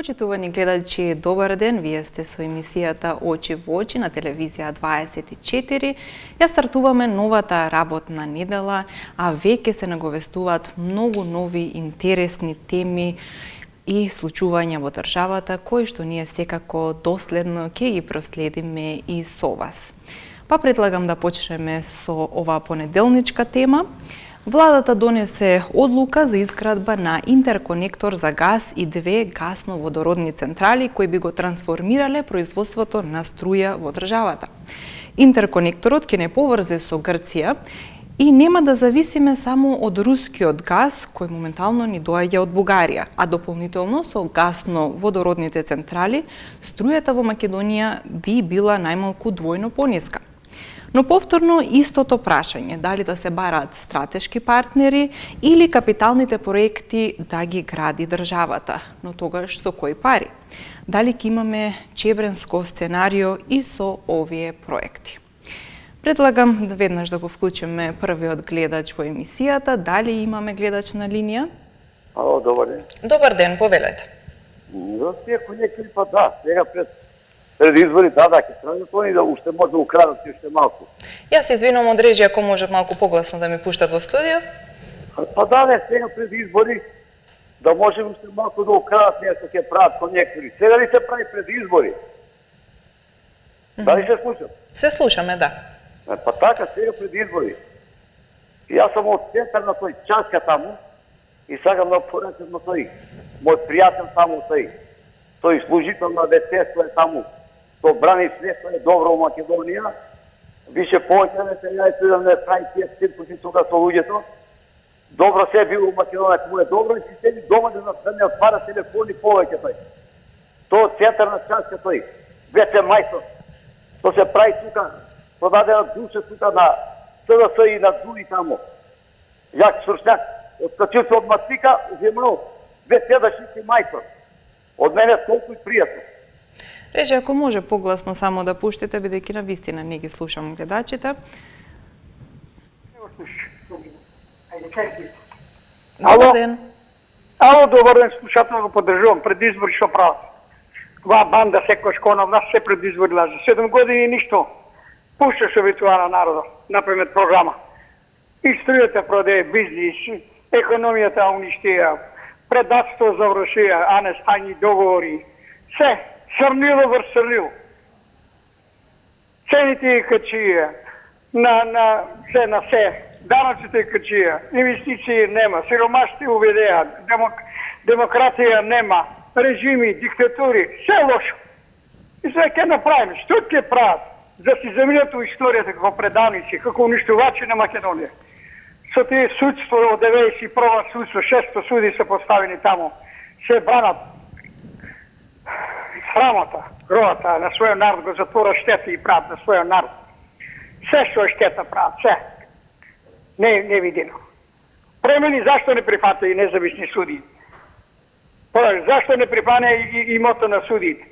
Почитувани гледачи, добар ден, вие сте со емисијата Очи во очи на телевизија 24. Ја стартуваме новата работна недела, а веќе се наговестуваат многу нови интересни теми и случувања во државата, кои што ние секако доследно ќе ги проследиме и со вас. Па предлагам да почнеме со оваа понеделничка тема. Владата донесе одлука за изградба на интерконектор за газ и 2 гасно-водородни централи кои би го трансформирале производството на струја во државата. Интерконекторот ќе не поврзе со Грција и нема да зависиме само од рускиот газ кој моментално ни доаѓа од Бугарија, а дополнително со гасно-водородните централи струјата во Македонија би била најмалку двојно пониска. Но повторно истото прашање, дали да се бараат стратешки партнери или капиталните проекти да ги гради државата, но тогаш со кои пари? Дали ќе имаме чебренско сценарио и со овие проекти? Предлагам да веднаш да го вклучиме првиот гледач во емисијата. Дали имаме гледач на линија? Ало, добар ден. Добар ден, повелете. За тие конекти па да, сега пред избори ќе трајат они да уште може да украдат уште малку. Јас се извинувам од режија, ако може малку погласно да ми пуштат во студио. Па да, сега пред избори да може уште малку да украдат нешто ќе прават конектори. Сега ли се прави пред избори? Дали се слушам? Се слушаме, да. Па така, сега пред избори. Јас сум од центар на тој Часка таму и сакам да порачам на тој. Мој пријател таму тој служител на ВТС е таму. То брани све, тоа е добро во Македонија. Више повеќе не се јајте да не прави тие циркуси тука со луѓето. Добро се било во Македонија, кому е добро и си седи дома да не отвара телефони повеќе тој. Тоа центар на Часка тој. ВТ мајстор. То се прави тука, продадена душа тука на СДС и на други таму. Јак Суршняк, откачил се од Матика, земал ВТ да шити мајстор. Од мене толку и пријатно. Режи, ако може погласно само да пуштите, бидејќи на вистина не ги слушам гледачите. Добар ден. Ало, добар ден, слушател, го поддржувам. Пред избори што прават? Ова банда секојаш кона нас се пред избори лаже. 7 години ништо. Пушташе витува на народот, например програма. И струјата продаде, бизнис, економијата уништија, предатство завршија, а не стајни договори. Се, срнило врз срнило. Цените качија, на се, данъците качија, инвестиции нема, сиромашти уведеа, демократија нема, режими, диктатури, се лошо. И сега ќе направиме, што ќе прават? За си заминат у историјата како предавници, како уништувачи на Македонија. Со тие судство од 91-а судство, 600 суди се поставени таму, се бранат срамота, гровата на својот народ, го затвора штета и прават на својот народ. Се што е штета прават, се. Не видено. Премени зашто не прифата и независни суди? Зашто не припане и имото на судиите?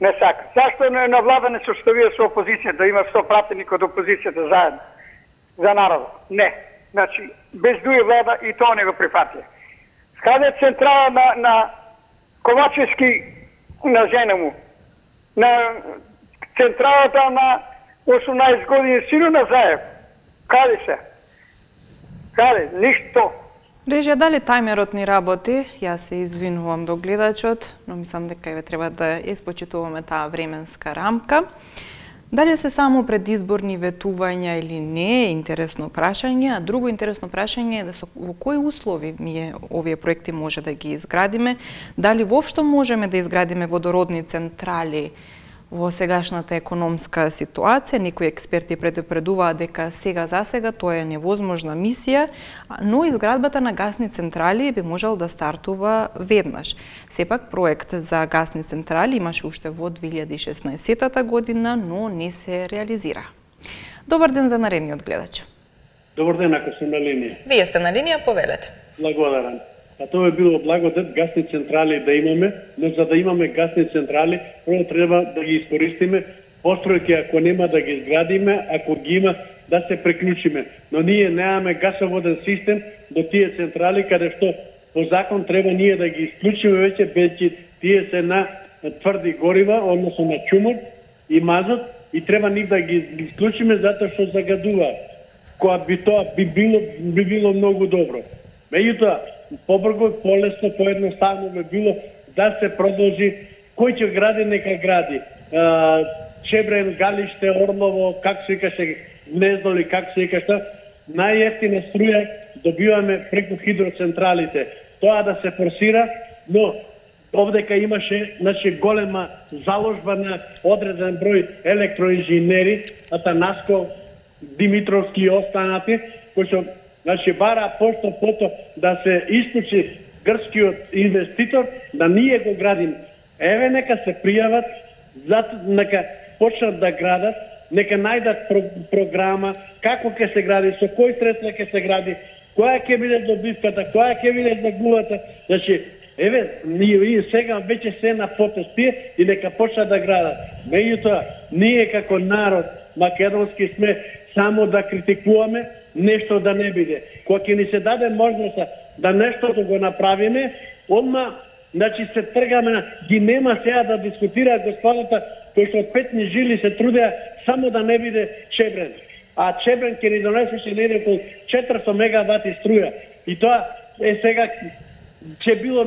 Не сака. Зашто на влада не се оставија со опозицијата, да има 100 пратеник од опозицијата заедно за народот? Не. Значи, без дуи влада и тоа не го прифатија. Каде е централа на Ковачевски на жена му? На централата на 18 години сину на Заев? Каде се? Каде? Ништо. Режија, дали тајмерот ни работи? Јас се извинувам до гледачот, но мислам дека ве треба да испочитуваме таа временска рамка. Дали се само предизборни ветувања или не е интересно прашање, а друго интересно прашање е во кои услови овие проекти може да ги изградиме, дали воопшто можеме да изградиме водородни централи во сегашната економска ситуација. Некои експерти предупредуваат дека сега за сега тоа е невозможна мисија, но изградбата на гасни централи би можел да стартува веднаш. Сепак проект за гасни централи имаше уште во 2016 година, но не се реализира. Добар ден за наредниот гледач. Добар ден, ако сум на линија. Вие сте на линија, повелете. Благодарам. А тоа е било благодет гасни централи да имаме, но за да имаме гасни централи, прво треба да ги искористиме, постројки ако нема да ги изградиме, ако ги има да се приклучиме. Но ние немаме гасоводен систем до тие централи, каде што по закон треба ние да ги исклучиме веќе тие се на тврди горива, односно на чумор и мазот, и треба нив да ги исклучиме затоа што загадуваат. Која би тоа би било многу добро. Меѓутоа, побрзо, полесно, поедноставно би било да се продолжи, кој ќе гради, нека гради. Чебрен, Галиште, Орлово, как се викаше, Гнездо или как се викаше, најевтина струја добиваме преку хидроцентралите. Тоа да се форсира, но овдека имаше голема заложба на одреден број електроинженери, Атанаско, Димитровски и останати, кои што бара пото да се исклучи грчкиот инвеститор, да ние го градим. Еве, нека се пријават, нека почнат да градат, нека најдат програма, како ќе се гради, со кој средства ќе се гради, која ќе биде добивката, која ќе биде загубата. Еве, ние сега веќе се на потост тие и нека почнат да градат. Меѓутоа, ние како народ македонски сме само да критикуваме, нешто да не биде. Кога ќе ни се даде можноста да нешто да го направиме, одма, се тргаме, ги нема сега да дискутираат господата кои што од петни жили се трудеа само да не биде Чебрен. А Чебрен ќе ни донесеше негде околу 400 мегавати струја. И тоа сега ќе било,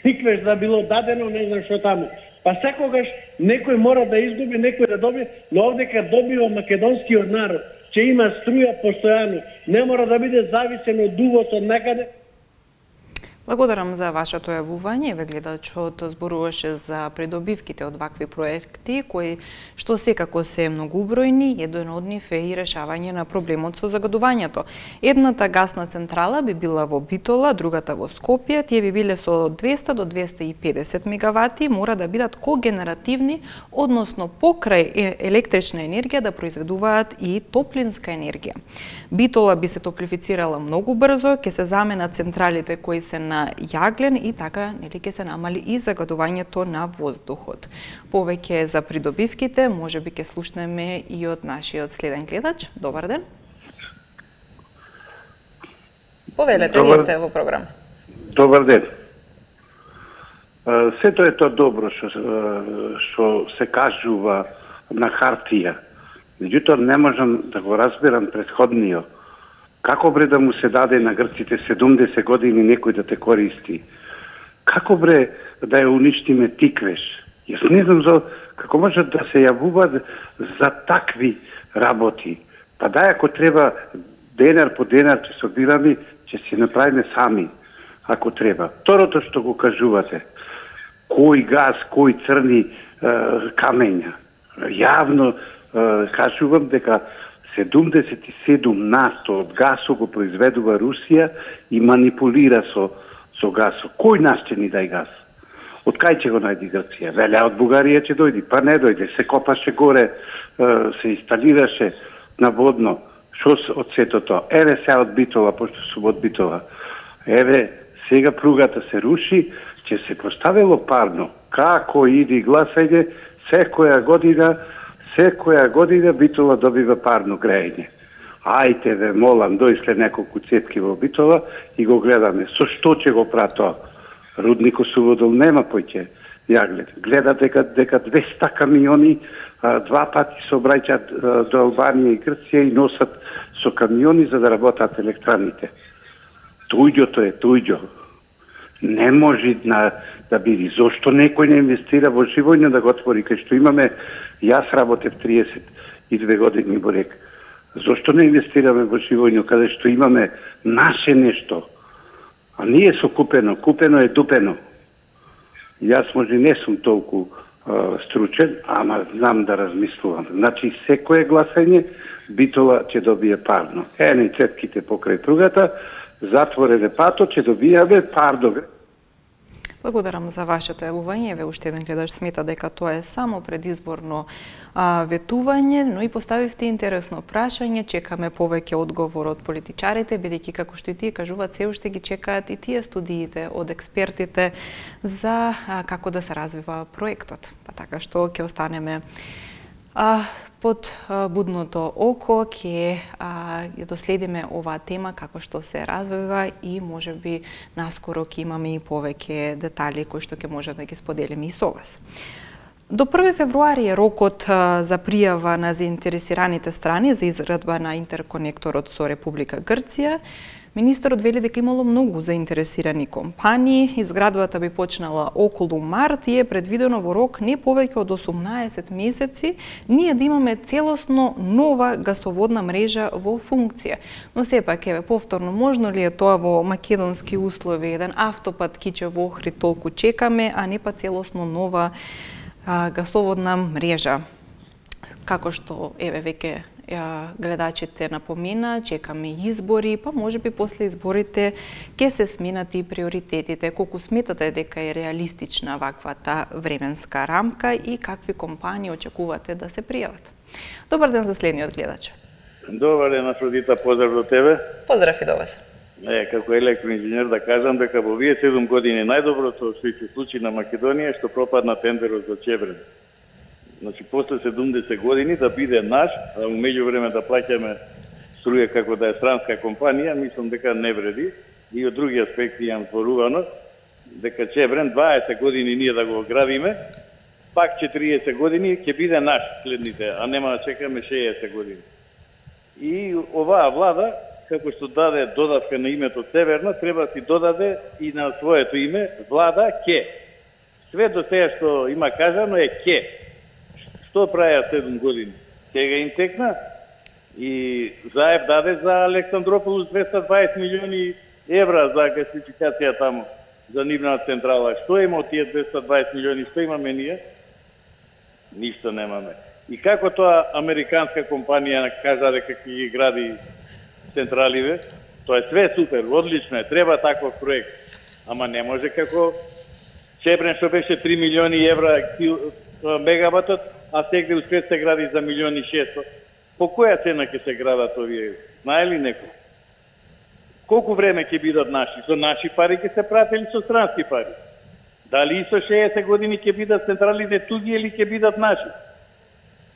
тиквеш да било дадено, не знам што таму. Па секогаш некој мора да изгуби, некој да доби, но овдека добива македонскиот народ, ќе има струја постојано, не мора да биде зависен од увоз од некаде. Благодарам за вашето јавување. Ве гледачот зборуваше за придобивките од вакви проекти, кои што секако се многубројни, еден од нив е и решавање на проблемот со загадувањето. Едната гасна централа би била во Битола, другата во Скопје, тие би биле со 200 до 250 мегавати, мора да бидат когенеративни, односно покрај електрична енергија да произведуваат и топлинска енергија. Битола би се топлифицирала многу брзо, ќе се заменат централите кои се на јаглен и така ќе се намали и загадувањето на воздухот. Повеќе за придобивките можеби ќе слушнеме и од нашиот следен гледач. Добар ден. Повелете, вие сте во програм. Добар ден. Сето е тоа добро што се кажува на хартија. Меѓутоа не можам да го разберам претходниот. Како бре да му се даде на грците 70 години некој да те користи? Како бре да ја уништиме Тиквеш? Јас не знам како можат да се јавуваат за такви работи. Па дај, ако треба денар по денар ќе собираме, ќе си направиме сами, ако треба. Второто што го кажувате, кој газ, кој црни камења. Јавно кажувам дека 77% од гасот го произведува Русија и манипулира со гасот. Кој нас ќе ни дај газ? Од кај ќе го најди Грција? Веле, од Бугарија ќе дојди, па не дојде. Се копаше горе, се инсталираше наводно. Шо од сето тоа? Еве сега од Битола, пошто сум од Битола. Еве, сега пругата се руши, ќе се поставило парно. Како иди гласање, секоја година Битола добива парно грејење. Ајте ве молам, дојшле неколку цетки во Битола и го гледаме. Со што ќе го прават тоа? Рудникот Суводол нема поќе јаглен. Гледа дека 200 камиони два пати се обраќаат до Албанија и Грција и носат со камиони за да работат електраните. Туѓото е туѓо. Не може да биде. Зошто некој не инвестира во Живојно да го отвори, кај што имаме, јас работев 32 години во РЕК. Зошто не инвестираме во Живојно, каде што имаме наше нешто? А ние со купено е дупено. Јас може не сум толку стручен, ама знам да размислувам. Значи, секое гласање, Битола ќе добие парно. Ени цетките покрај пругата, затворене патот, ќе добијаме парно. Благодарам за вашето јавување. Ве уште еден гледач смета дека тоа е само предизборно ветување, но и поставивте интересно прашање. Чекаме повеќе одговор од политичарите, бидејќи како што и тие кажуваат, се уште ги чекаат и тие студиите од експертите за како да се развива проектот. Па така што ќе останеме Под будното око ќе доследиме оваа тема како што се развива и можеби наскоро ќе имаме и повеќе детали кои што ќе може да ги споделиме и со вас. До 1 февруари е рокот за пријава на заинтересираните страни за изградба на интерконекторот со Република Грција. Министерот вели дека имало многу заинтересирани компании. Изградбата би почнала околу март и е предвидено во рок не повеќе од 18 месеци ние да имаме целосно нова гасоводна мрежа во функција. Но сепак, еве, повторно, можно ли е тоа во македонски услови, еден автопат Кичево-Охрид толку чекаме, а не па целосно нова гасоводна мрежа? Како што, еве, веќе гледачите напомина, чекаме избори, па можеби после изборите ќе се сменат и приоритетите. Колку сметате дека е реалистична ваквата временска рамка и какви компании очекувате да се пријават? Добар ден за следниот гледач. Добар ден, Афродита, поздрав до тебе. Поздрав и до вас. Како електроинженер да кажам дека во овие 7 години најдоброто што се случи на Македонија е што пропадна тендерот за Чебрен. Значи, после 70 години да биде наш, а во меѓувреме да плаќаме струја како да е странска компанија, мислам дека не вреди. И од други аспекти имам зборувано, дека Чебрен 20 години ние да го градиме, пак 40 години ќе биде наш следните, а нема да чекаме 60 години. И оваа влада, како што даде додавка на името Северна, треба да си додаде и на своето име влада ке. Све до сега што има кажано е ке. Што правеа 7 години? Сега им текна и Заев даде за Александрополус 220 милиони евра за гасификација таму, за нивна централа. Што има од тие 220 милиони? Што имаме ние? Ништо немаме. И како тоа американска компанија кажа дека ќе ги гради централиве, тоа е све супер, одлично е, треба таков проект. Ама не може како Чебрен што беше 3 милиони евра мегаватот, а сега успет се гради за 1.600.000. По која цена ќе се градат овие? Знае ли некој? Колку време ќе бидат наши? Со наши пари ќе се прати или со странски пари? Дали и со 60 години ќе бидат централите туги или ќе бидат наши?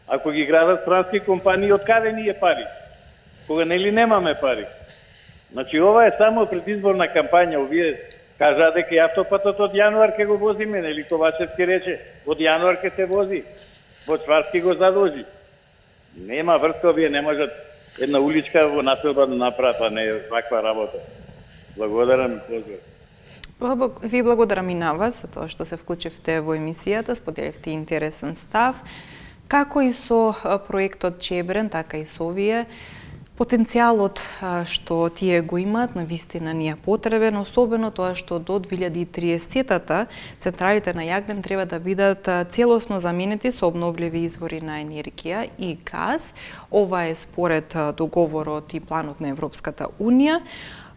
Ако ги градат странски компании, од каде ни е пари? Кога нели немаме пари? Значи, ова е само предизборна кампања. Овие кажа дека автопатот од јануар ќе го возиме, нели Ковачевски рече, од јануар ќе се вози. Бочварски го задолжи. Нема врска, овие не можат една уличка во населба да направат, а не ваква работа. Благодарам и поздрав. Ви благодарам и на вас за тоа што се вклучивте во емисијата, споделивте интересен став. Како и со проектот Чебрен, така и со овие, потенцијалот што тие го имаат на вистина ни е потребен, особено тоа што до 2030-та централите на јаглен треба да бидат целосно заменети со обновливи извори на енергија и газ. Ова е според договорот и планот на Европската Унија.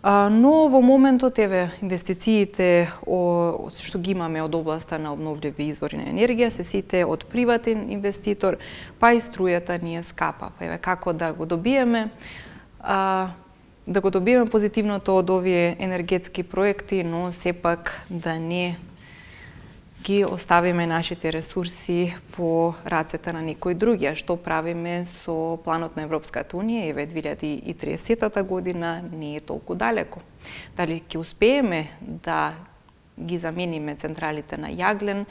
Но во моментот, еве, инвестициите што ги имаме од областа на обновливи извори на енергија се сите од приватен инвеститор, па и струјата ни е скапа. Па еве, како да го добиеме позитивното од овие енергетски проекти, но сепак да не ги оставиме нашите ресурси во рацете на некои други. Што правиме со планот на Европската Унија, еве 2030 година не е толку далеко. Дали ќе успееме да ги замениме централите на јаглен,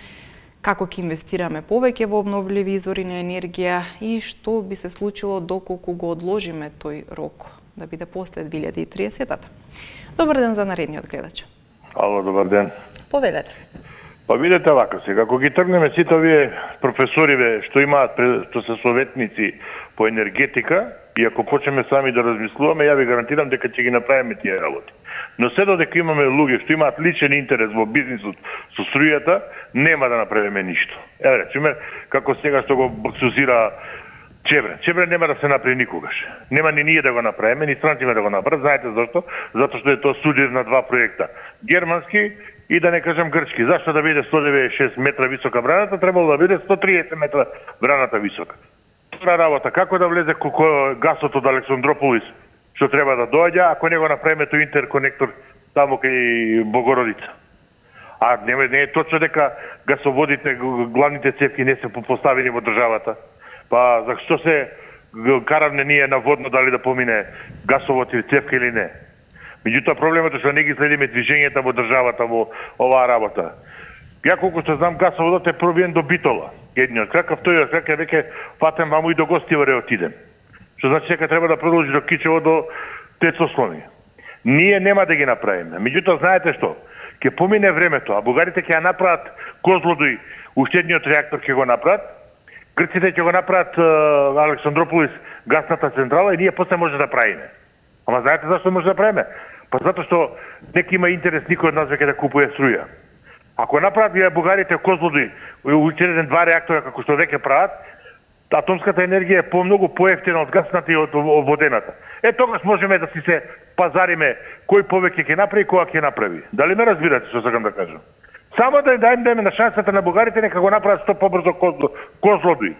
како ќе инвестираме повеќе во обновливи извори на енергија и што би се случило доколку го одложиме тој рок да биде после 2030-та. Добар ден за наредниот гледач. Ало, добар ден. Повелете. Па видете вака сега, ако ги тргнеме сите овие професориве што имаат, што се советници по енергетика, и ако почнеме сами да размислуваме, ја ви гарантирам дека ќе ги направиме тие работи. Но се додека имаме луѓе што имаат личен интерес во бизнисот со струјата, нема да направиме ништо. Еве, речеме, како сега што го баксузира Чебрен. Чебрен нема да се направи никогаш. Нема ни ние да го направиме, ни странците да го направат. Знаете зашто? Затоа што е тоа судир на два проекта. Германски и да не кажам грчки. Зашто да биде 196 метра висока браната, требало да биде 130 метра браната висока. Тоа работа, како да влезе гасот од Александрополис, што треба да доаѓа, ако не го направиме тој интерконектор таму кај Богородица. А не е точно дека гасоводите, главните цевки не се поставени во државата. Па зашто се караме ние на водно дали да помине гасовод или цевка или не? Меѓутоа проблемот е што не ги следиме движењата во државата во оваа работа. Ја колку што знам, гасоводот е пробиен до Битола. Едниот крак, а вториот крак е веќе фатем ваму и до Гостиваре отидем. Што значи дека треба да продолжи до Кичево, до Тецослони. Ние нема да ги направиме. Меѓутоа, знаете што? Ќе помине времето, а бугарите ќе ја направат Козлодуј, уште едниот реактор ќе го направат, грците ќе го направат Александрополис гасната централа и ние после може да правиме. Ама знаете зашто може да правиме? Па затоа што нека има интерес никој од нас веќе да купува струја. Ако направат бугарите Козлодуј, уште еден 2 реактора како што веќе прават, атомската енергија е помногу поевтина од гасната и од водената. Тогаш можеме да си се пазариме кој повеќе ќе направи и кога ќе направи. Дали ме разбирате што сакам да кажам? Само да им дадеме на шансата на бугарите нека го направат што побрзо Козлодуј.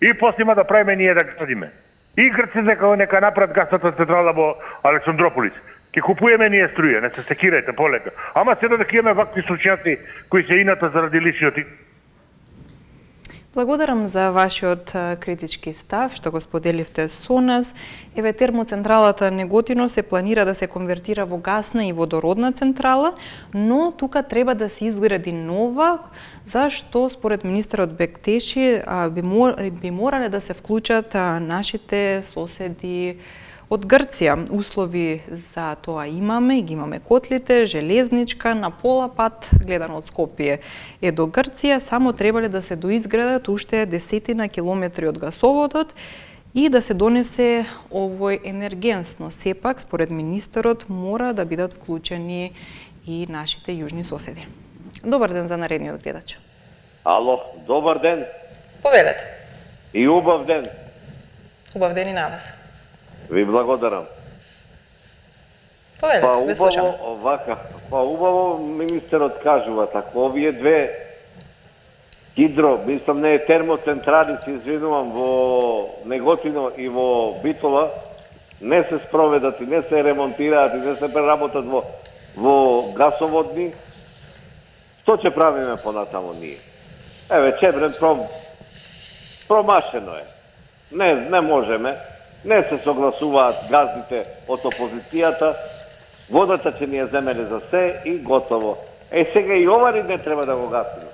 И после има да правиме ние да градиме. И грците нека направат гасната централа во Александрополис. Ке купуеме ние струја, не се секирајте полека. Ама се додека имаме вакви случајци кои се ината заради личниот. Благодарам за вашиот критички став, што го споделивте со нас. Еве, термоцентралата Неготино се планира да се конвертира во гасна и водородна централа, но тука треба да се изгради нова, зашто според министерот Бектеши би морале да се вклучат нашите соседи од Грција. Услови за тоа имаме, ги имаме котлите, железничка, на пола пат, гледано од Скопје е до Грција, само требале да се доизградат уште 10 километри од гасоводот и да се донесе овој енергенсно. Сепак, според министерот, мора да бидат вклучени и нашите јужни соседи. Добар ден за наредниот гледач. Ало, добар ден. Повелете. И убав ден. Убав ден и на вас. Ви благодарам. Повелете, ве слушам. Убаво министерот кажува така, овие две хидро, мислам не термоцентрали, се извинувам, во Неготино и во Битола, не се спроведат и не се ремонтираат и не се преработат во гасоводни. Што ќе правиме понатамо ние? Еве, Чебрен промашено е. Не можеме. Не се согласуваат газдите од опозицијата, водата ќе ни ја земеле за се и готово. Сега и ова не треба да го гасиме.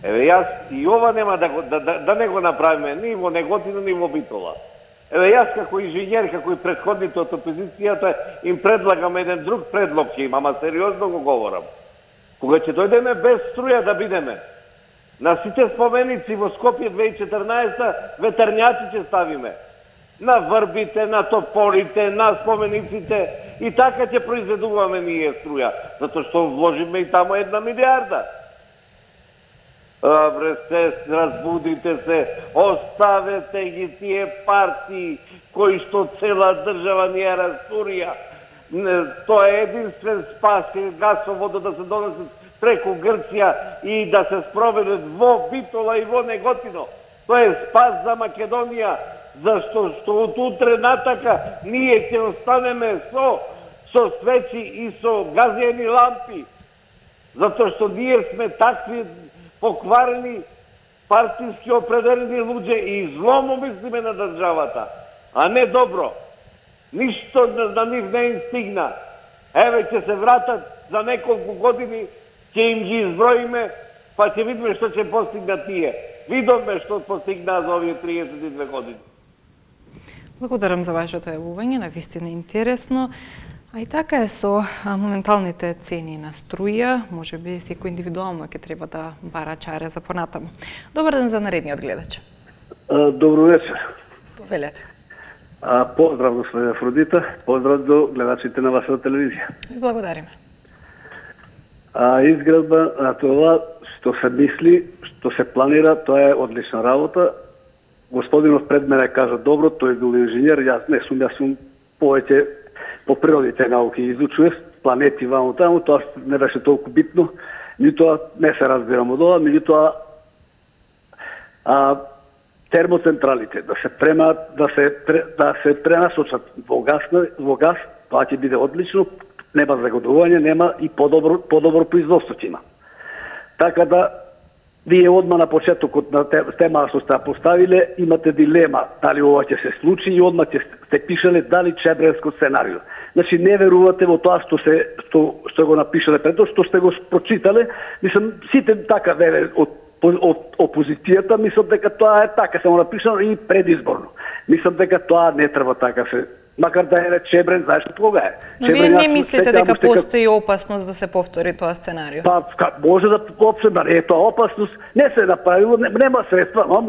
Еве, јас и ова нема да не го направиме ни во Неготино, ни во Битола. Еве, јас како инженер, како и предходните од опозицијата, им предлагам еден друг предлог ќе имам, ама сериозно го говорам. Кога ќе дојдеме без струја да бидеме, на сите споменици во Скопје 2014 ветерњаци ќе ставиме. На врбите, на тополите, на спомениците и така ќе произведуваме ние струја, затоа што вложиме и тамо 1 милиарда. Абре, се разбудите се, оставете ги тие партии кои што цела држава ни ја растурија. Тоа е единствен спас гасоводот да се донесе преку Грција и да се спроведат во Битола и во Неготино. Тоа е спас за Македонија. Зашто од утре натака ние ќе останеме со свечи и со газени лампи. Затоа што ние сме такви покварени, партиски определени луѓе и зломо мислиме на државата, а не добро. Ништо на нив не им стигна. Еве, ќе се вратат за неколку години, ќе им ги изброиме, па ќе видиме што ќе постигнат тие. Видовме што постигнаа за овие 32 години. Благодарам за вашето јавување, навистина интересно. А и така е со моменталните цени на струја, може би секој индивидуално ќе треба да бара чаре за понатаму. Добар ден за наредниот гледач. Добро вечер. Повелете. Поздрав, господина Афродита, поздрав до гледачите на вашата телевизија. Благодариме. Изградба на тоа што се мисли, што се планира, тоа е одлична работа. Господинов пред мене кажа добро, тој бил инженер, јас сум повеќе по природните науки изучував, планети ваму таму, тоа не беше толку битно, меѓутоа не се разбирам од ова, меѓутоа термоцентралите да се пренасочат во газ, тоа ќе биде одлично, нема загодување, нема и подобро производство ќе има. Така да Вие одма на почетокот на тема што сте поставиле, имате дилема дали ова ќе се случи и одма ќе сте пишале дали чебренско сценарио. Значи не верувате во тоа што го напишале пред тоа, што сте го прочитале. Мислам, сите така вере од опозицијата, мислам дека тоа е така, само напишано и предизборно. Мислам дека тоа не треба така се, макар да е Чебрен, знаеш кога е. Но вие не мислите дека постои опасност да се повтори тоа сценарио? Па, може да не е тоа опасност, не се направило, нема средства, но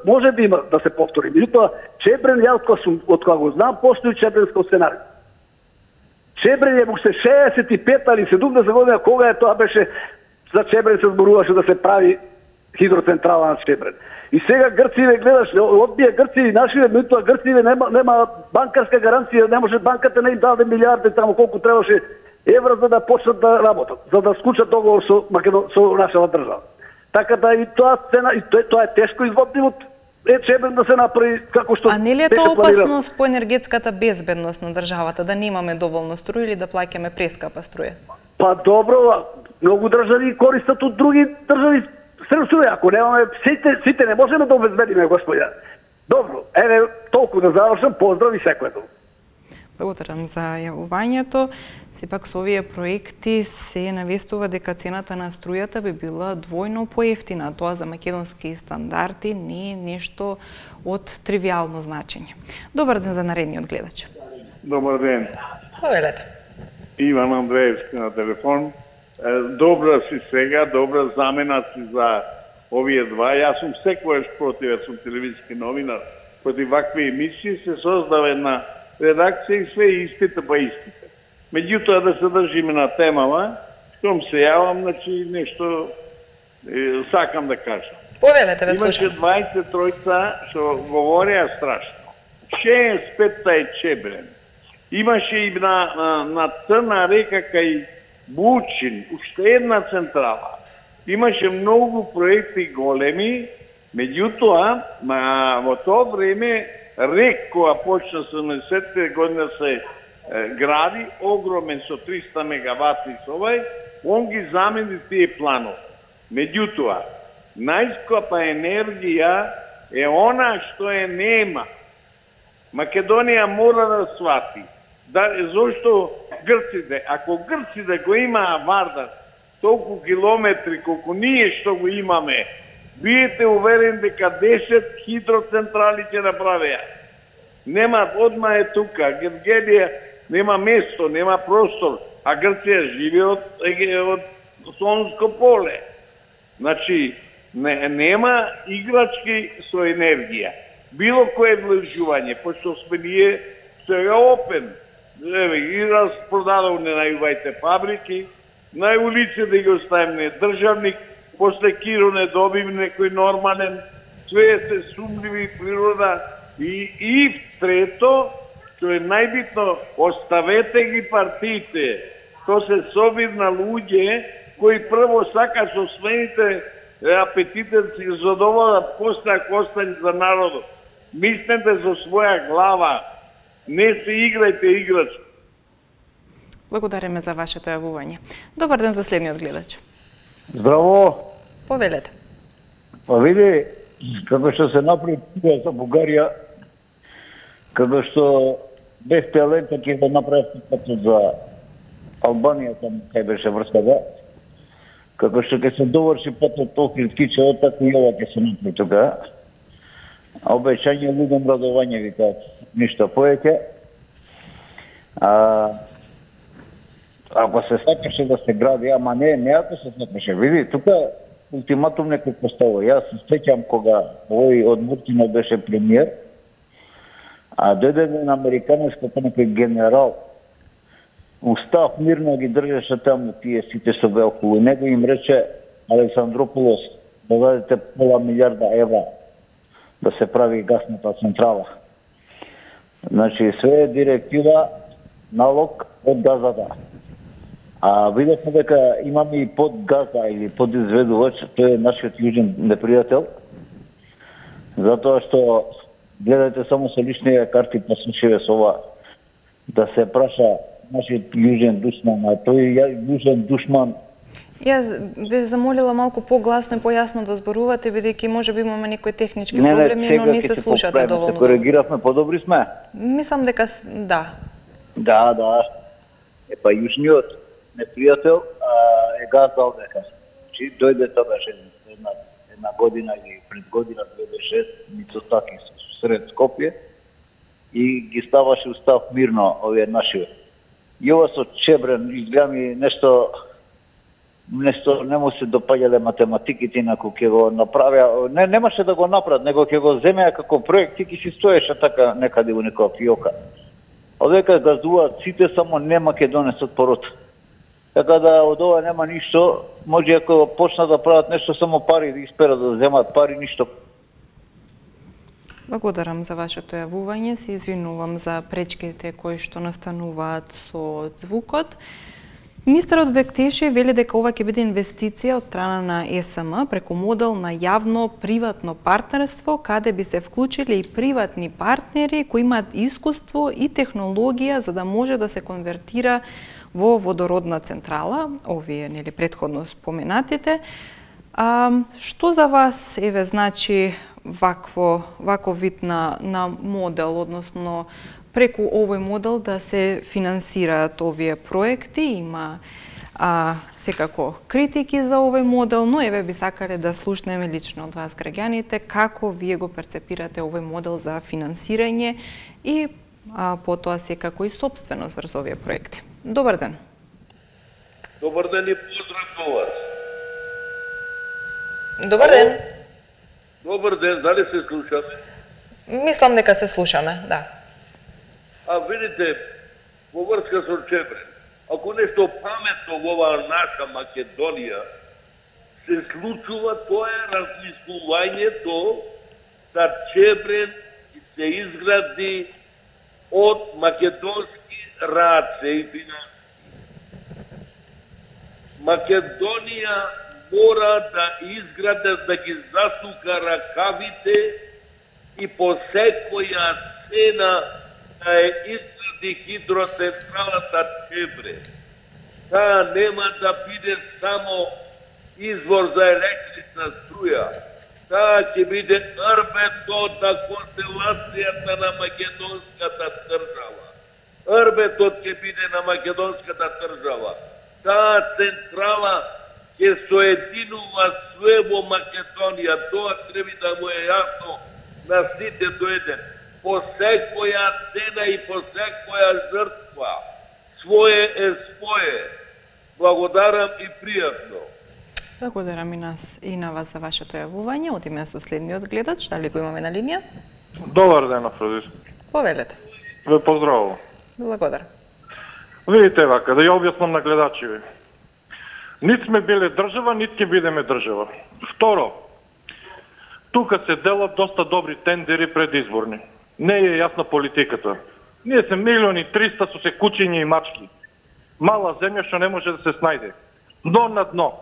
може да има да се повтори. Меѓутоа, Чебрен, од кога го знам, постои Чебренско сценарио. Чебрен е се 65 или 70 година, кога е тоа беше, за Чебрен се зборуваше да се прави хидроцентрала на Чебрен. И сега Грциве гледаш, одбија Грциве, нашиве, меѓутоа Грциве нема банкарска гаранција, не може банката не им даде милиарди таму колку требаше евра за да почнат да работат, за да склучат договор со нашава држава. Така да и тоа цена, и тоа е тешко изводливо Чебрен да се направи како што. А не ли е тоа опасност по енергетската безбедност на државата, да немаме доволно струја или да плаќаме прескапа струја? Па добро, многу држави користат од други држави струја, ако немаме сите не можеме да обезбедиме, господја. Добро, еве толку да завршам, поздрав и секој добро. Благодарам за јавувањето. Сепак со овие проекти се навестува дека цената на струјата би била двојно поевтина. Тоа за македонски стандарди не е нешто од тривијално значење. Добар ден за наредниот гледач. Добар ден. Повелете. Иван Андреевски на телефон. Добра си сега, добра замена си за овие два. Јас сум секојаш против, јас сум телевизиски новинар. Против вакви емисии се создава една редакција и све истите па истите. Меѓутоа да се држиме на темава, штом се јавам, значи нешто сакам да кажам. Повелете, ве слушам. Имаше 23 што говореа страшно. 65 е Чебрен. Имаше и на Црна река кај Бучин, уште една централа. Имаше многу проекти големи, меѓутоа, во тоа време РЕК, која почна 70-те година се гради, огромен со 300 мегавати со овај, он ги замени тие планови. Меѓутоа, најскапа енергија е она што е нема. Македонија мора да свати. Зошто грците, ако грците го имаа Вардар, толку километри колку ние што го имаме, биете уверен дека 10 хидроцентрали ќе направеа. Нема, одма е тука, Гергелија нема место, нема простор, а Грција живе од Сонско поле. Значи, нема играчки со енергија. Било кое влежување, пошто сме ние сега опен. И распродадовне најувајте фабрики, нај улице да ги оставиме државник, после Киро не добим некој нормален, све се сумливи природа. И трето, што е најбитно, оставете ги партиите. То се собир на луѓе кои прво сака со своите апетите си задоволат, после ако остане за народот. Мислете за своја глава, не се играјте играч. Благодариме за вашето јавување. Добар ден за следниот гледач. Здраво. Повелете. Па види, како што се направи за Бугарија, како што без Пелента ќе го направи патот за Албанија, там кај беше врската, како што ќе се доврши патот Охрид-Кичево, така и ова ќе се направи тука. А обеќање лудом радување, викаат, ништо повеќе. Ако се сакаше да се гради, ама не ако се сакаше. Види, тука ултиматум некој поставува. Јас се сеќам кога овој од Муртино беше премиер, а дојде еден американец како некој генерал, устав мирно ги држеше таму тие сите што беа околу него, им рече Александрополос да дадете пола милиарда евра да се прави гасната централа. Значи, све е директива, налог од газата. А видовме дека имаме и подгаза или подизведувач, тој е нашиот јужен непријател, затоа што гледате само со личните карти па случаје со ова, да се праша нашиот јужен душман, а тој јужен душман Јас би замолила малку погласно и појасно да зборувате, бидејќи можеби имаме некои технички проблеми, но не се слушате доволно. Се коригиравме, подобри сме. Мислам дека да. Да. Епа јужниот непријател е газдал дека. Чи дојде тоа беше една година или пред година 2006 Мицотаки сред Скопје и ги ставаше устав мирно овие наши. И ова со Чебрен изгледа ми нешто не му се допаѓале математиките, инаку ќе го направя, немаше да го направат, него ќе го земеа како проект и ќе си стоеше така некаде во некоја фиока. Овека газдуваат сите, само не македонецот порота. Така да од ова нема ништо, може ако почнат да прават нешто, само пари да исперат, да земат пари, ништо. Благодарам за вашето јавување, се извинувам за пречките кои што настануваат со звукот. Министерот Бектеши вели дека ова ќе биде инвестиција од страна на ЕСМ преку модел на јавно-приватно партнерство, каде би се вклучили и приватни партнери кои имаат искуство и технологија за да може да се конвертира во водородна централа, овие нели претходно споменатите. Што за вас значи ваков вид на модел, односно преку овој модел да се финансираат овие проекти? Има секако критики за овој модел, но еве би сакале да слушнеме лично од вас граѓаните како вие го перцепирате овој модел за финансирање и потоа секако и собственост врз овие проекти. Добар ден. Добар ден и поздрав до вас. Добар ден. Добар ден, дали се слушаме? Мислам дека се слушаме, да. Видите, во врска со Чебрен, ако нешто паметно во оваа наша Македонија се случува, тоа е размислувањето да Чебрен се изгради од македонски раце и финансии. Македонија мора да изгради, да ги засука ракавите и по секоја цена да ја изгради хидроцентралата Чебрен. Таа нема да биде само извор за електрична струја. Таа ќе биде рбето на констелацијата на македонската држава. Рбетот ќе биде на македонската држава. Таа централа ќе соединува све во Македонија. Тоа треба да му е јасно на сите до еден. По секоја цена и по секоја жртва. Своје е своје. Благодарам и пријатно. Благодарам и на вас за вашето јавување. Одиме со следниот гледач. Дали го имаме на линија? Добар ден, Афродис. Повелете. Ве поздравувам. Благодарам. Видите вака, да ја објаснам на гледачиви. Нит сме биле држава, нит ќе бидеме држава. Второ, тука се делат доста добри тендери предизборни. Не е јасна политиката. Ние се 1.300.000 со се кучиња и мачки. Мала земја што не може да се снајде. Дно на дно.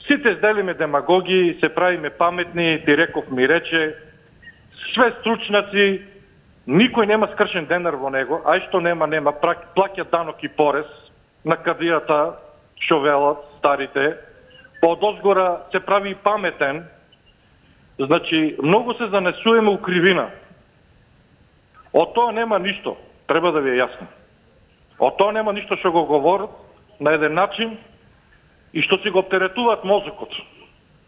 Сите сделиме демагоги, се правиме паметни, ти реков ми рече, све стручнаци, никој нема скршен денар во него, ај што нема, плаќа данок и порез на кадијата, што велат старите, подозгора се прави паметен, значи многу се занесуваме у кривина. Од тоа нема ништо, треба да ви е јасно. Од тоа нема ништо што го говорат на еден начин и што си го оптеретуваат мозокот.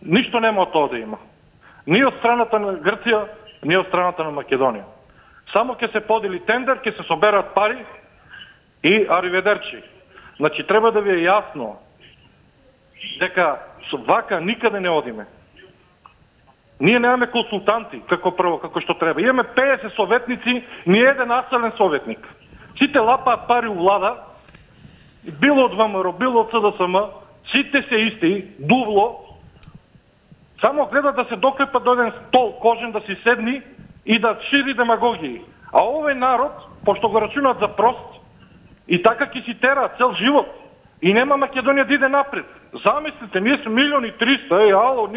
Ништо нема од тоа да има. Ни од страната на Грција, ни од страната на Македонија. Само ќе се подели тендер, ќе се соберат пари и ариведерчи. Значи, треба да ви е јасно дека со вака никаде не одиме. Ние немаме консултанти, како што треба. Имаме 50 советници, ни еден аселен советник. Сите лапаат пари у влада, било од ВМРО, било од СДСМ, сите се исти, дувло, само гледат да се доклепат до еден стол кожен, да си седни и да шири демагогии. А овој народ, пошто го рачунат за прост, и така ќе си тера цел живот. И нема Македонија да иде напред. Замислите, ние сме 1.300.000, ало,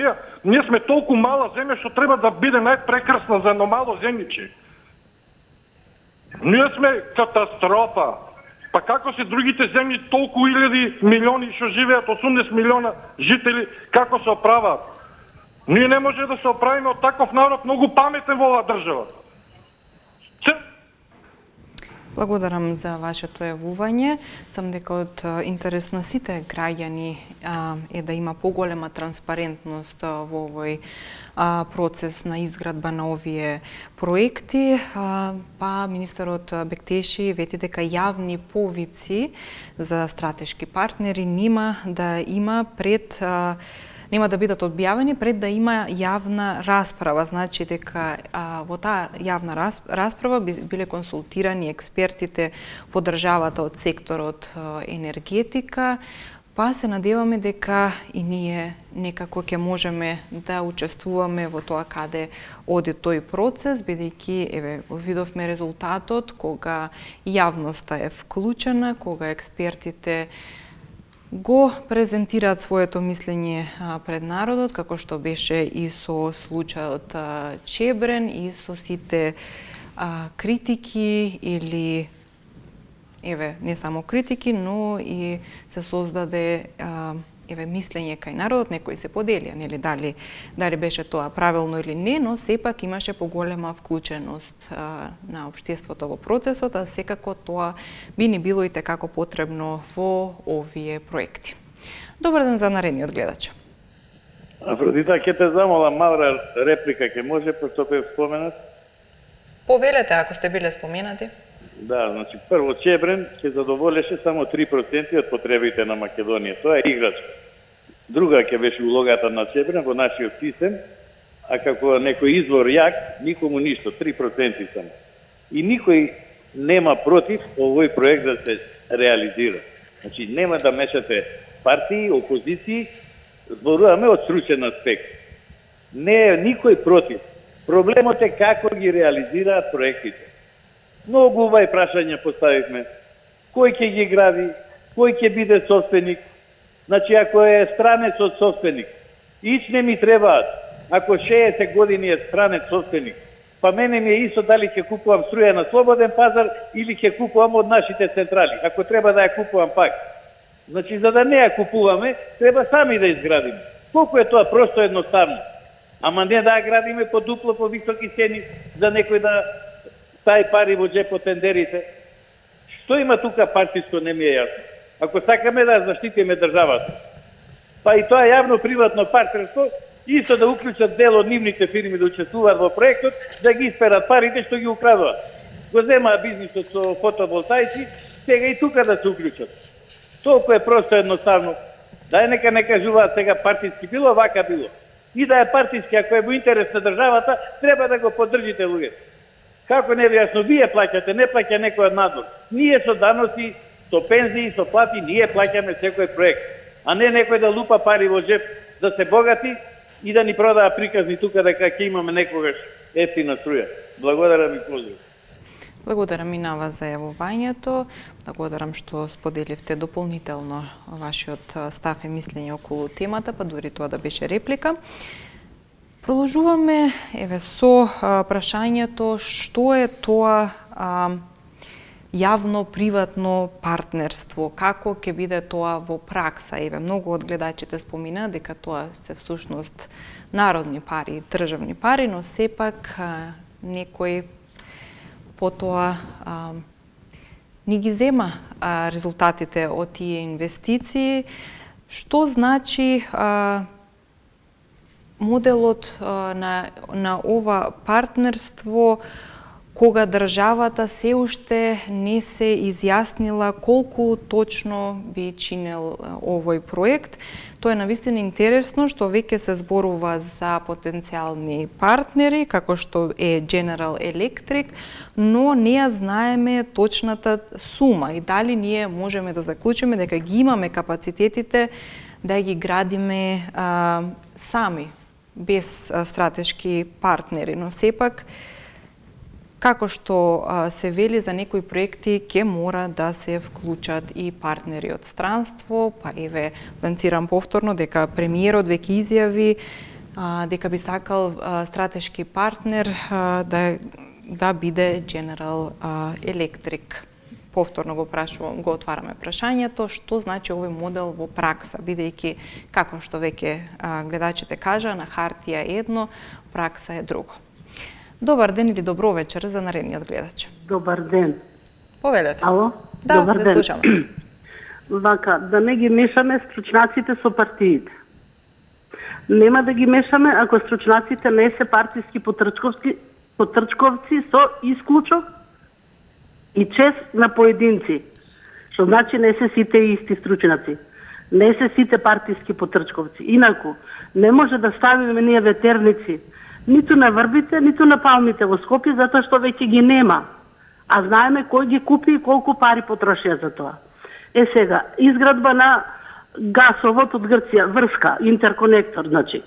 ние сме толку мала земја што треба да биде најпрекрасна за едно мало земјиче. Ние сме катастрофа. Па како се другите земји толку илјади милиони што живеат, 80 милиона жители, како се оправаат? Ние не може да се оправиме од таков народ многу паметен во оваа држава. Благодарам за вашето јавување. Сам дека од интерес на сите граѓани е да има поголема транспарентност во овој процес на изградба на овие проекти. Па министерот Бектеши вети дека јавни повици за стратешки партнери нема да бидат одбјавени пред да има јавна расправа. Значи дека во таа јавна расправа биле консултирани експертите во државата од секторот енергетика, па се надеваме дека и ние некако ќе можеме да учествуваме во тоа каде оди тој процес, бидејќи видовме резултатот кога јавноста е вклучена, кога експертите го презентираат своето мислење пред народот, како што беше и со случајот Чебрен и со сите критики или не само критики, но и се создаде мислење кај народот, некои се поделија, нели дали беше тоа правилно или не, но сепак имаше поголема вклученост на општеството во процесот, а секако тоа би ни било и текако потребно во овие проекти. Добар ден за наредниот гледач. Афродита, ќе те замолам мала реплика, ќе може, пошто бе споменат? Повелете, ако сте биле споменати. Да, значи прво Чебрен ќе задоволеше само 3% од потребите на Македонија. Тоа е играчка. Друга ќе беше улогата на Чебрен во нашиот систем, а како некој извор јак, никому ништо, 3% само. И никој нема против овој проект да се реализира. Значи нема да мешате партии, опозиции, зборуваме од стручен аспект. Не е никој против. Проблемот е како ги реализираат проектите. Многу овај прашања поставивме. Кој ќе ги гради? Кој ќе биде собственик? Значи, ако е странец од собственик, ич не ми требаат. Ако 60 години е странец собственик, па мене ми е исто дали ќе купувам струја на слободен пазар или ќе купувам од нашите централи. Ако треба да ја купувам пак. Значи, за да не ја купуваме, треба сами да изградиме. Колку е тоа просто едноставно. Ама не да ја градиме по дупло, по високи цени, за некој да тај пари во джепот тендерите. Што има тука партиско, не ми е јасно. Ако сакаме да заштитиме државата, па и тоа јавно-приватно партнерство, исто да уклучат дел од нивните фирми да учествуваат во проектот, да ги исперат парите што ги украдуваат. Го земаат бизнисот со фотоволтаици, сега и тука да се уклучат. Толку е просто едноставно. Дај нека не кажуваат сега партиски било, вака било. И да е партиски, ако е во интерес на државата, треба да го поддржите луѓето. Како не ви јасно, вие плаќате, не плаќа некој од надвор. Ние со даноци, со пензии, со плати, ние плаќаме секој проект. А не некој да лупа пари во джеп, да се богати и да ни продава приказни тука дека ќе имаме некогаш ефтина струја. Благодарам и поздрав. Благодарам и на вас за јавувањето. Благодарам што споделивте дополнително вашиот став и мислење околу темата, па дури тоа да беше реплика. Продолжуваме со прашањето што е тоа јавно-приватно партнерство, како ќе биде тоа во пракса. Многу од гледачите спомина дека тоа се всушност народни пари, државни пари, но сепак некој потоа ни ги зема резултатите од тие инвестиции. Што значи моделот на ова партнерство кога државата се уште не се изјаснила колку точно би чинел овој проект. Тоа е навистина интересно што веќе се зборува за потенцијални партнери, како што е General Electric, но не ја знаеме точната сума и дали ние можеме да заклучиме дека ги имаме капацитетите да ги градиме сами, без стратешки партнери, но сепак како што се вели за некои проекти ќе мора да се вклучат и партнери од странство, па ланцирам повторно дека премиерот веќе изјави дека би сакал стратешки партнер да биде General Electric повторно го отвараме прашањето, што значи овој модел во пракса, бидејќи, како што веќе гледачите кажа, на хартија е едно, пракса е друго. Добар ден или добро вечер за наредниот гледач. Добар ден. Повелете. Ало? Да, добар ден. Слушаме. Вака, да не ги мешаме стручнаците со партиите. Нема да ги мешаме ако стручнаците не се партиски потрчковци со исклучок и чест на поединци. Што значи не се сите исти стручнаци. Не се сите партиски потрчковци. Инаку, не може да ставиме ние ветерници ниту на врбите, ниту на палмите во Скопје, затоа што веќе ги нема. А знаеме кој ги купи и колку пари потрошија за тоа. Сега, изградба на гасовод од Грција, врска, интерконектор, значи.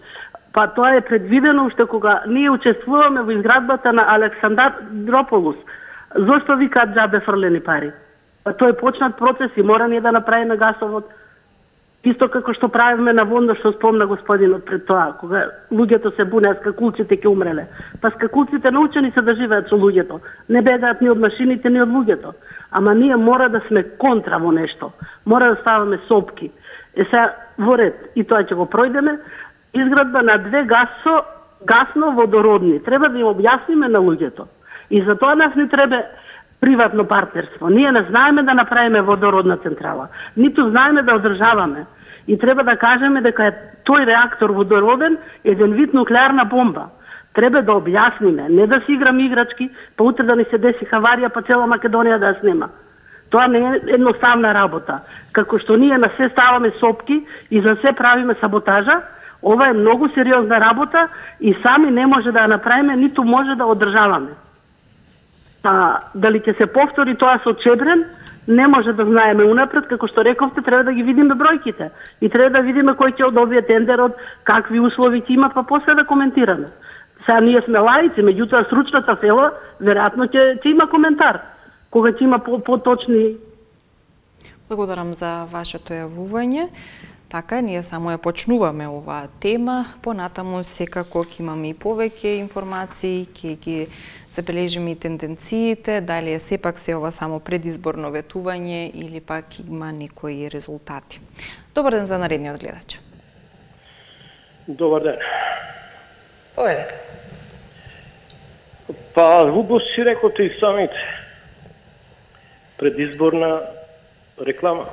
Па тоа е предвидено уште кога ние учествуваме во изградбата на Александрополус. Зошто викаат џабе фрлени пари? Па тој е почнат процес и мора ние да направиме гасовод. Исто како што правиме на Вондо, што спомна господинот пред тоа, кога луѓето се бунеа, скакулците ќе умреле. Па скакулците научени се да живеат со луѓето. Не бегаат ни од машините, ни од луѓето. Ама ние мора да сме контра во нешто. Мора да ставаме сопки. Сега во ред, и тоа ќе го пројдеме, изградба на 2 гасно-водородни. Треба да им објасниме на луѓето. И за тоа нас не треба приватно партнерство. Ние не знаеме да направиме водородна централа. Ниту знаеме да одржаваме. И треба да кажеме дека е тој реактор водороден еден вид нуклеарна бомба. Треба да објасниме, не да си играме играчки, па утре да ни се деси хаварија, па цела Македонија да ја снема. Тоа не е едноставна работа. Како што ние на се ставаме сопки и за се правиме саботажа, ова е многу сериозна работа и сами не може да ја направиме, ниту може да одржаваме. Дали ќе се повтори тоа со Чебрен, не може да знаеме унапред, како што рековте, треба да ги видиме бројките и треба да видиме кој ќе одобие тендерот, какви услови ќе има, па после да коментираме. Сега ние сме лаици, меѓутоа стручната села веројатно ќе има коментар, кога ќе има поточни. Благодарам за вашето јавување. Така, ние само ја почнуваме оваа тема, понатаму секако ќе имаме и повеќе информации, ќе ги забележиме и тенденциите, дали е сепак се ова само предизборно ветување или пак има некои резултати. Добар ден за наредниот гледач. Добар ден. Повелете. Па, убаво си рекоте и самите. Предизборна реклама.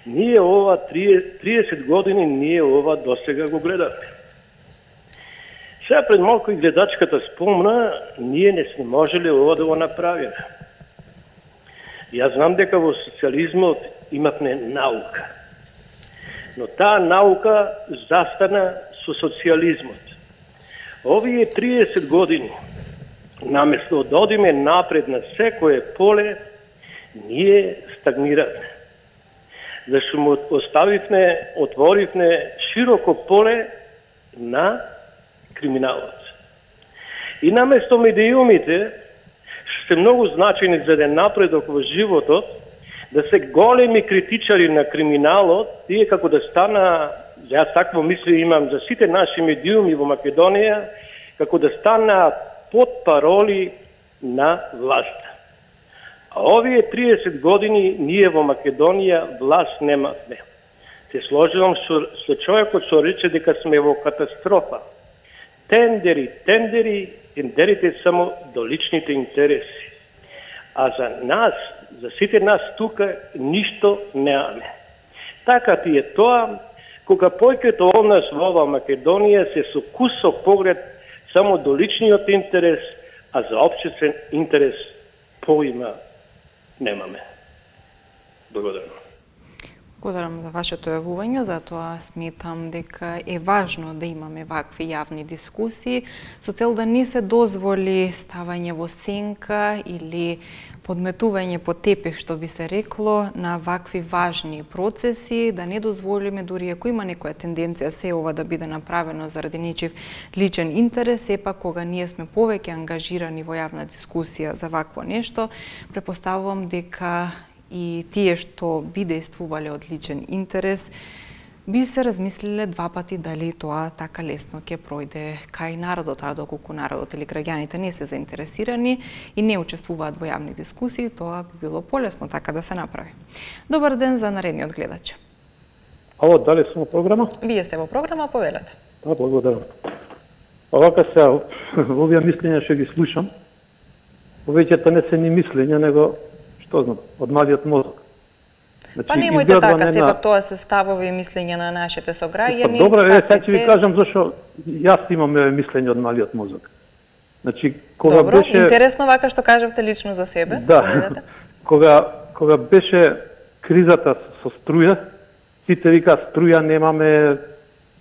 Ние ова 30 години, ние ова досега го гледаме. Сега пред малко и гледачката спомна, ние не сме можели ова да го направиме. Јас знам дека во социализмот имавме наука. Но таа наука застана со социализмот. Овие 30 години, наместо да одиме напред на секое поле, ние стагниравме. Зашто му отворивме широко поле на криминалот. И наместо медиумите, што се многу значени за еден напредок во животот, да се големи критичари на криминалот, тие како да стана, јас такво мисли имам за сите наши медиуми во Македонија, како да стана под пароли на власта. А овие 30 години ние во Македонија власт немавме. Се сложувам со човекот што рече дека сме во катастрофа. Тендерите само до личните интереси. А за нас, за сите нас тука, ништо немаме. Така ти е тоа, кога појкето од нас во ова Македонија се со кусок поглед само до личниот интерес, а за општествен интерес поима немаме. Благодарам. Благодарам за вашето јавување, затоа сметам дека е важно да имаме вакви јавни дискусии со цел да не се дозволи ставање во сенка или подметување по тепех, што би се рекло, на вакви важни процеси, да не дозволиме дури ако има некоја тенденција се ова да биде направено заради нечив личен интерес, сепак кога ние сме повеќе ангажирани во јавна дискусија за вакво нешто, препоставувам дека и тие што би действувале од личен интерес би се размислиле два пати дали тоа така лесно ќе пројде кај народот, а доколку народот или граѓаните не се заинтересирани и не учествуваат во јавни дискусии, тоа би било полесно така да се направи. Добар ден за наредниот гледач. Ало, дали сум во програма? Вие сте во програма, повелете. Да, благодарам. Овака се, овие мислења што ги слушам, повеќето не се ни мислења, него, што знам, од малиот мозок. Па немојте така, сепак тоа се ставови и мислења на нашите сограѓани. Добро, сега ќе ви кажам зашо јас имам мислење од малиот мозок. Значи, кога добро, беше... интересно вака што кажавте лично за себе. Да, кога беше кризата со струја, сите вика струја немаме,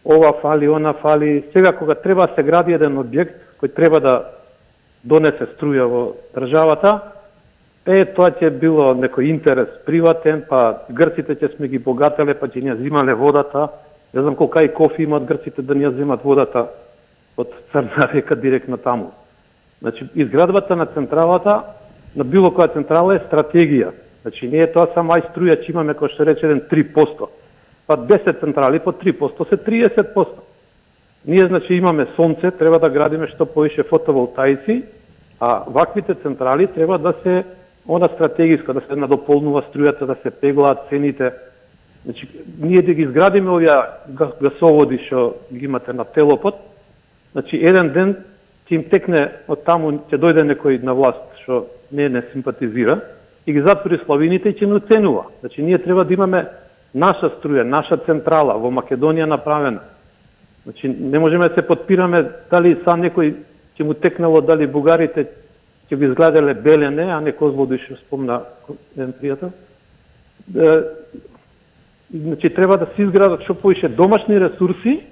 ова фали, она фали. Сега кога треба да се гради еден објект кој треба да донесе струја во државата, тоа ќе било некој интерес приватен, па грците ќе сме ги богателе, па ќе ни земале водата. Не знам колка и кофи имат грците да ни земат водата од Црна река директно таму. Значи, изградбата на централата, на било која централа е стратегија. Значи, не е тоа само ај струја, че имаме, кој што рече, 3%. Па 10 централи по 3% се 30%. Ние, значи, имаме сонце, треба да градиме што повише фотоволтаици, а ваквите централи треба да се она стратегиска, да се надополнува струјата, да се пеглаат цените. Значи, ние да ги изградиме овие гасоводи што ги имате на Телопот, значи, еден ден ќе им текне од таму, ќе дојде некој на власт што не симпатизира и ги затвори славините и ќе не оценува. Значи, ние треба да имаме наша струја, наша централа во Македонија направена. Значи, не можеме да се подпираме дали са некој ќе му текнало, дали бугарите ќе го изгледеле Белене, а не Козлодуј, што спомна еден пријател. Значи, треба да се изградат што поише домашни ресурси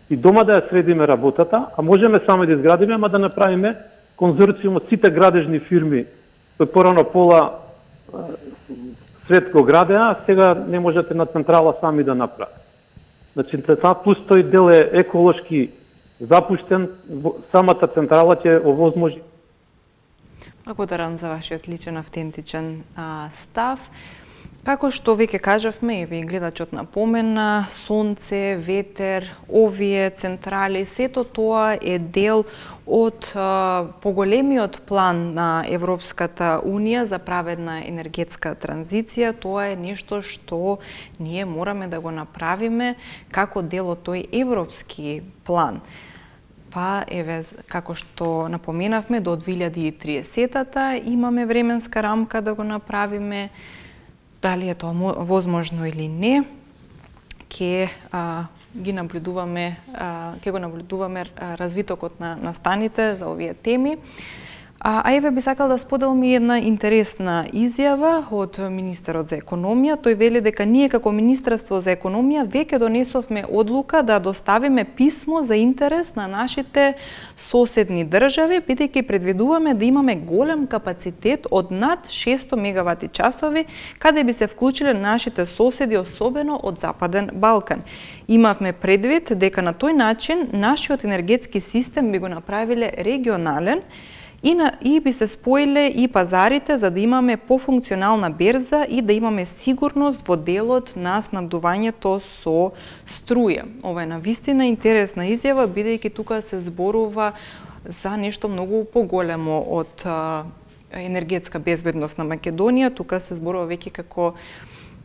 и дома да ја средиме работата, а можеме само да изградиме, ама да направиме конзорциум од сите градежни фирми, кои порано пола свет го градеа, а сега не можете на централа сами да направи. Значи, плюс тој дел е еколошки запуштен, самата централа ќе овозможи. Благодарам за вашиот личен автентичен став. Како што веќе кажавме, и гледачот напомена, сонце, ветер, овие централи, сето тоа е дел од поголемиот план на Европската Унија за праведна енергетска транзиција. Тоа е нешто што ние мораме да го направиме како дел од тој европски план. Па, еве, како што напоменавме, до 2030-та имаме временска рамка да го направиме. Дали е тоа возможно или не, ќе го наблюдуваме развитокот на настаните за овие теми. А еве би сакал да споделам една интересна изјава од министерот за економија. Тој вели дека ние како Министерство за економија веќе донесовме одлука да доставиме писмо за интерес на нашите соседни држави, бидејќи предвидуваме да имаме голем капацитет од над 600 мегавати часови, каде би се вклучиле нашите соседи, особено од Западен Балкан. Имавме предвид дека на тој начин нашиот енергетски систем би го направиле регионален и би се споиле и пазарите за да имаме пофункционална берза и да имаме сигурност во делот на снабдувањето со струја. Ова е навистина интересна изјава, бидејќи тука се зборува за нешто многу поголемо од енергетска безбедност на Македонија. Тука се зборува веќе како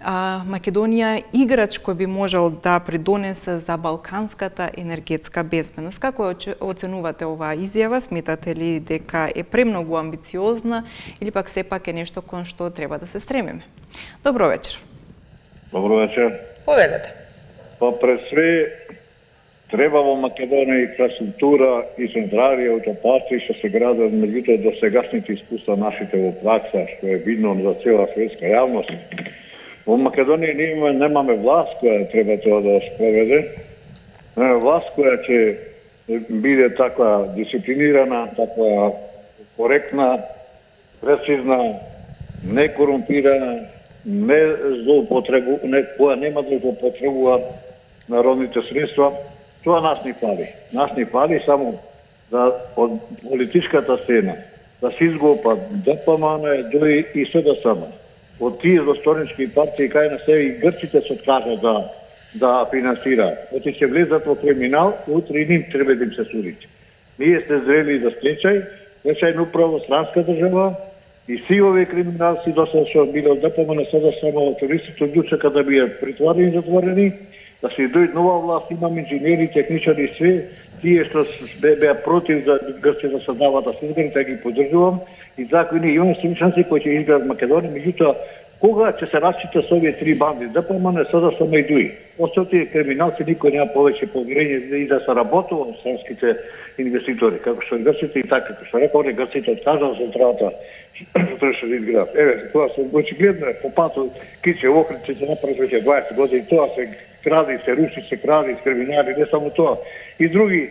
Македонија играч кој би можел да придонесе за балканската енергетска безбедност. Како оценувате оваа изјава? Сметате ли дека е премногу амбициозна или пак сепак е нешто кон што треба да се стремиме? Добро вечер. Добро вечер. Повелете. Па пред све треба во Македонија инфраструктура и централи аутопати што се градат, меѓутоа до сегашните искуства нашите во пракса, што е видно за цела светска јавност. Во Македонија ние немаме власт која треба тоа да спроведе. Власт која ќе биде таква дисциплинирана, таква коректна, прецизна, некорумпирана, која нема да злоупотребува народните средства. Тоа нас ни фали. Нас ни фали само да од политичката сцена да се изгопат ДПМН, ДОИ и СДСМ. Од тие досторнички партии кај на себе и грците се откажа да да финансираат. Оти ќе влезат во криминал, утре и ним треба да им се суди. Ние сте зрели за стечајна управа, странска држава, и си овие криминалци досега што биле од ДПМН sada само терористите одлучаха да бидат притворени и затворени, да се дојде нова власт, имам инженери, техничари, све, тие што беа против за Грција да се дават да ги поддржувам, и така ние имаме стручњаци кои ќе изградат Македонија, меѓутоа кога ќе се расчита со овие три банди, ДПМН sada само и ДУИ. Остатите криминалци никој нема повеќе поверење и да се работува во странските инвеститори, како што грците и така, како што рекол, грците откажаа централата што требаше да изградат. Еве, тоа се очигледно по патот Киче Охридче се направи веќе 20 години, тоа се кради, се руши, се кради, криминали, не само тоа. И други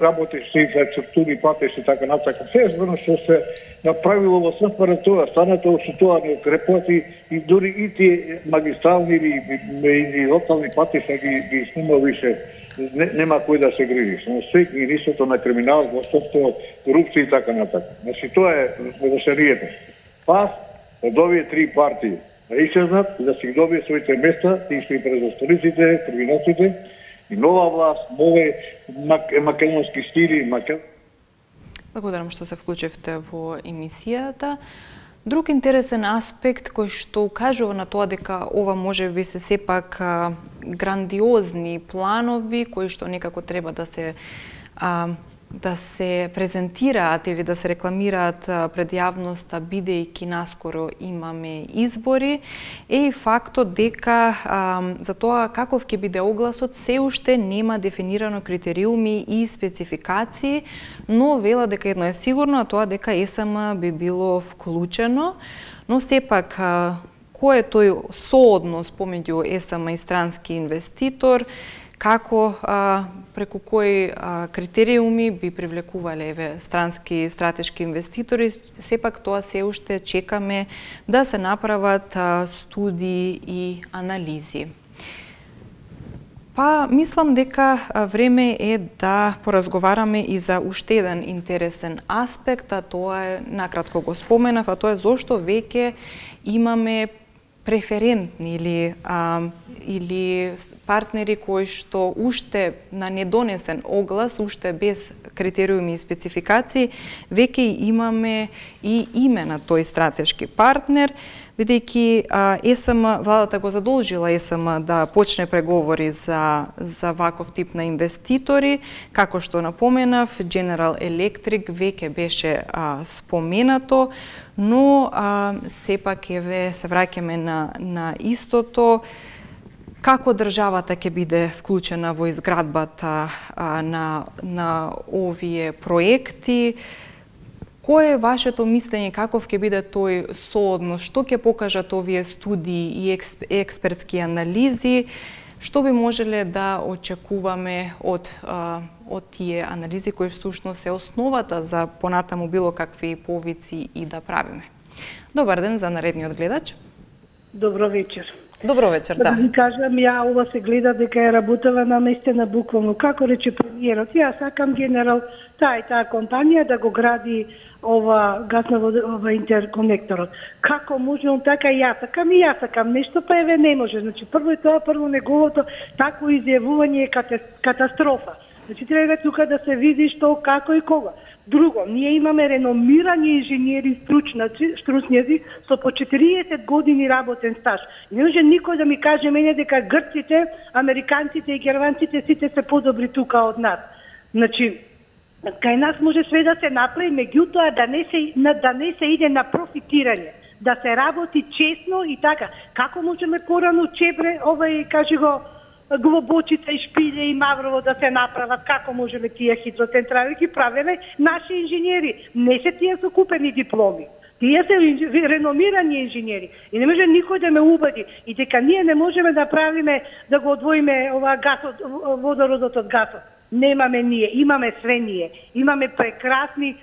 работещи инфраструктури, патеши, така натака. Се што се направило во СФР тоа, станато што тоа не крепати и дури и тие магистрални или локални патишта ги снима више. Нема кој да се грижи. Но се нисото на криминал, властовство, корупција и така натака. Значи тоа е решението. Пас од овие три партии да исчезнат и да си добие своите места, тие што и презастолиците, криминалците, и нова власт, нови македонски стили, Благодарам што се вклучивте во емисијата. Друг интересен аспект кој што укажува на тоа дека ова може би се сепак грандиозни планови кои што некако треба да се презентираат или да се рекламираат пред јавноста, бидејќи наскоро имаме избори, е и фактот дека за тоа каков ќе биде огласот се уште нема дефинирано критериуми и спецификации, но вела дека едно е сигурно, а тоа дека ЕСМ би било вклучено, но сепак кој е тој сооднос помеѓу ЕСМ и странски инвеститор, како преку кои критериуми би привлекувале странски стратешки инвеститори, сепак тоа се уште чекаме да се направат студии и анализи. Па, мислам дека време е да поразговараме и за уште еден интересен аспект, а тоа е, накратко го споменав, а тоа е зошто веќе имаме преферентни или партнери кои што уште на недонесен оглас, уште без критериуми и спецификации, веќе имаме и име на тој стратешки партнер, бидејќи ЕСМ, владата го задолжила ЕСМ да почне преговори за ваков тип на инвеститори, како што напоменав, General Electric веќе беше споменато, но сепак еве се враќаме на истото, како државата ќе биде вклучена во изградбата на овие проекти. Кој е вашето мислење, каков ќе биде тој сооднос, што ќе покажат овие студии и експертски анализи, што би можеле да очекуваме од тие анализи кои всушност се основата за понатаму било какви повици и да правиме. Добар ден за наредниот гледач. Добро вечер. Добро вечер, да. Да ви кажам, ја ова се гледа дека е работела наместена буквално. Како рече премиерот, ја сакам генерал таа и таа компанија да го гради ова ова интерконекторот. Како може он така и ја сакам нешто, па еве не може. Значи прво неговото такво изјавување е катастрофа. Значи треба тука да се види што, како и кога. Друго, ние имаме реномирани инженери, стручњаци со по 40 години работен стаж. Не може никој да ми каже мене дека грците, американците и германците сите се подобри тука од нас. Значи, кај нас може све да се направи, меѓутоа да не се иде на профитирање, да се работи честно и така. Како можеме порано Чебре, кажи го, Глобочица и Шпиле и Маврово да се направат, како можеме тие хидроцентрали ги правеле наши инженери. Не се тие со купени дипломи. Тие се реномирани инженери. И не може никој да ме убеди и дека ние не можеме да правиме, да го одвоиме водородот од гасот. Немаме ние, имаме све ние. Имаме прекрасни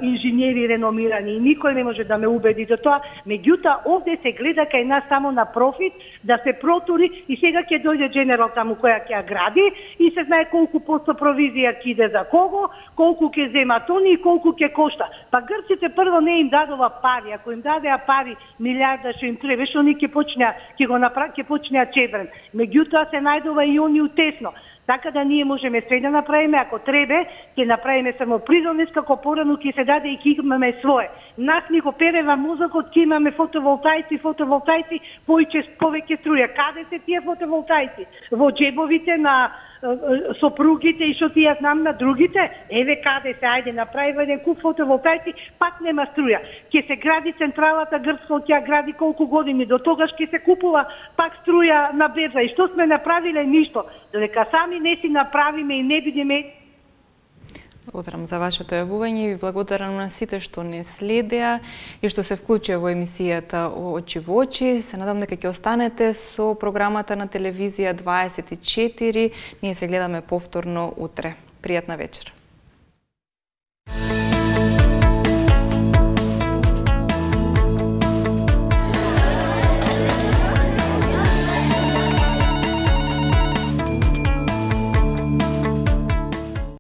инженери реномирани и никој не може да ме убеди до тоа. Меѓутоа, овде се гледа кај нас само на профит, да се протури и сега ќе дојде General таму која ќе ја гради и се знае колку посто провизија ќе иде за кого, колку ќе земат они и колку ќе кошта. Па грците прво не им дадова пари, ако им дадеа пари милиарда што им требаше, они ќе почнеа чебрен. Меѓутоа се најдува и они утесно. Така да ние можеме све да направиме, ако требе, ќе направиме само придонес, како порано ќе се даде и ќе имаме свое. Нас ни го перева мозокот, ќе имаме фотоволтаици, повеќе струја. Каде се тие фотоволтаици? Во джебовите на сопругите и што ти ја знам на другите? Еве каде се, ајде направи еден куп фотоволтаици, пак нема струја. Ќе се гради централата Грцко, ќе ја гради колку години, до тогаш ќе се купува пак струја на берза. И што сме направиле? Ништо. Додека сами не си направиме и не бидеме. Благодарам за вашето јавување и ви благодарам на сите што не следеа и што се вклучија во емисијата Очи во очи. Се надам дека ќе останете со програмата на телевизија 24. Ние се гледаме повторно утре. Пријатна вечер.